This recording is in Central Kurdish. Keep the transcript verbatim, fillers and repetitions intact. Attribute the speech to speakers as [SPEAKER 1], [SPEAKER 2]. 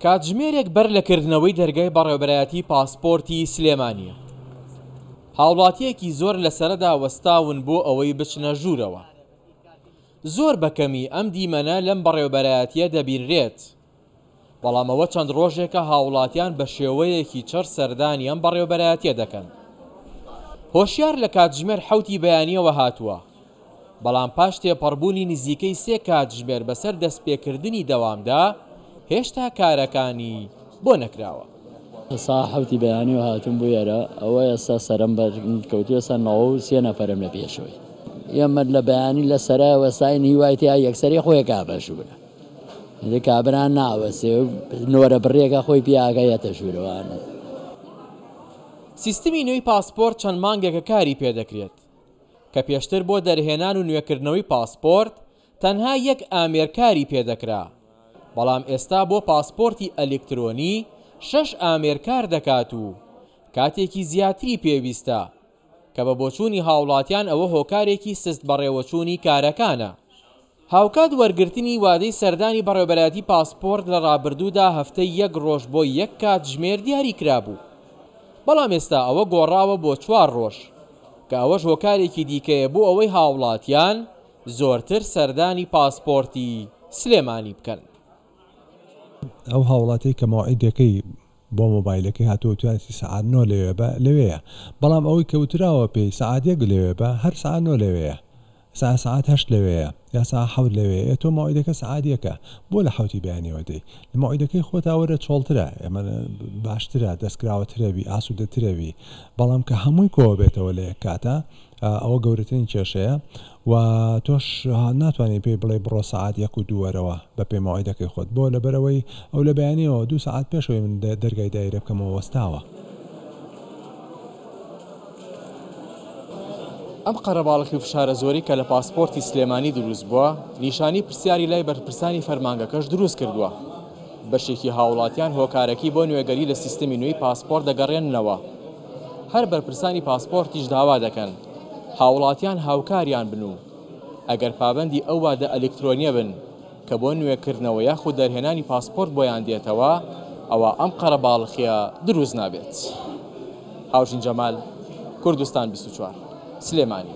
[SPEAKER 1] کاتژمێرێک بەر لە کردنەوەی دەرگای بەڕێوەبەرایەتی پاسپۆرتی سلێمانییە. هاوڵاتیەکی زۆر لە سەرەدا وەستاون بۆ ئەوەی بچنە ژوورەوە. زۆر بەکەمی ئەم دیمەنە لەم بەڕێوەبەرایەتیە دەبینرێت. بەڵام ئەوە چەند ڕۆژێکە هاوڵاتیان بە شێوەیەکی چڕ سەردانی ئەم بەڕێوەبەرایەتیە دەکەن. هۆشیار لە کاتژمێر حەوتی بەیانیەوە هاتووە، بەڵام پاش تێپەڕبوونی نزیکەی سێ کاتژمێر بەسەر دەستپێکردنی دەوامدا هێشتا کارەکانی بۆ نەکراوە.
[SPEAKER 2] سا حەوتی بەیانیەوە هاتووم بۆ ئێرە، ئەوە ئێستا سەرم بەرکەوتووە، ئێستا نەوە و سێ نەفەرم لە پێشەوەی. ئێمە لە بەیانی لە سەرای وەستاین هیوای تیا یەکسەری خۆی کابە ژوورە. کابرا ناوەسێ نۆرە بڕێکە خۆی پیاگە یەتە ژوورەوانە.
[SPEAKER 1] سیستمی نوێی پاسپۆرت چەند مانگێکە کاری پێدەکرێت کە پێشتر بۆ دەرهێنان و نوێکردنەوەی پاسپۆرت تەنها یەک ئامێرکاری پێدەکرا، بەڵام ئێستا بۆ پاسپۆرتی ئەلکترۆنی شەش ئامێرکار دەکات و کاتێکی زیاتری پێویستە کە بە بۆچوونی هاوڵاتیان ئەوە هۆکارێکی سست بەڕێوەچوونی کارەکانە. هاوکات وەرگرتنی وادەی سەردانی بەڕێوەبەرایەتی پاسپۆرت لە ڕابردوودا هەفتەی یەک ڕۆژ بۆ یەک کاتژمێر دیاری کرابوو، بەڵام ئێستا ئەوە گۆڕاوە بۆ چوار ڕۆژ کە ئەوەش هۆکارێکی دیکەیە بۆ ئەوەی هاوڵاتیان زۆرتر سەردانی پاسپۆرتی سلێمانی بکەن.
[SPEAKER 3] ئەو هاوڵاتی کە مەوعیدەکەی بۆ مۆبایلەکەی هاتووە توانێتی سەعات نۆ لەوێ بە لەوێیە، بەڵام ئەوەی کە وتراوە پێی سەعات یەک لەوێ بە هەر سەعات نۆ لەوێیە، سەعات هەشت لەوێیە یا سەعات حەوت لەوێیە. تۆ مەوعیدەکە سەعات یەکە، بۆ لە حەوتی بەیانیەوە دێی؟ لە مەوعیدەکەی خۆتا وەرە چۆڵترە، ئێمە باشترە، دەستکراوەترەبی، ئاسوودەترەبی، بەڵام کە هەمووی کۆوە بێتەوە لە یەک کاتە ئەوە گەورەترین کێشەیە و تۆش ناتوانێت پێی بڵێ بڕۆ سەعات یەک و دوو وەرەوە بە پێی مەوعیدەکەی خۆت، بۆ لەبەرەوەی ئەو لە بەیانیەوە دوو سەعات پێشەوەی من دەرگای دایرە بکەمەوە وەستاوە.
[SPEAKER 1] ئەم قەرەباڵخی و فشارە زۆری کە لە پاسپۆرتی سلێمانی دروست بووە نیشانی پرسیاری لای بەرپرسانی فەرمانگەکەش دروست کردووە. بەشێکی هاوڵاتیان هۆکارەکی بۆ نوێگەری لە سیستمی نوێی پاسپۆرت دەگەڕێننەوە. هەر بەرپرسانی پاسپۆرتیش داوا دەکەن هاوڵاتیان هاوکاریان بن و ئەگەر پابەندی ئەو وادە ئەلکترۆنیە بن کە بۆ نوێکردنەوە یاخود دەرهێنانی پاسپۆرت بۆیان دێتەوە، ئەوە ئەم قەرەباڵخیە دروست نابێت. هاوژین جەمال، کوردستان بیست و چوار، سلێمانی.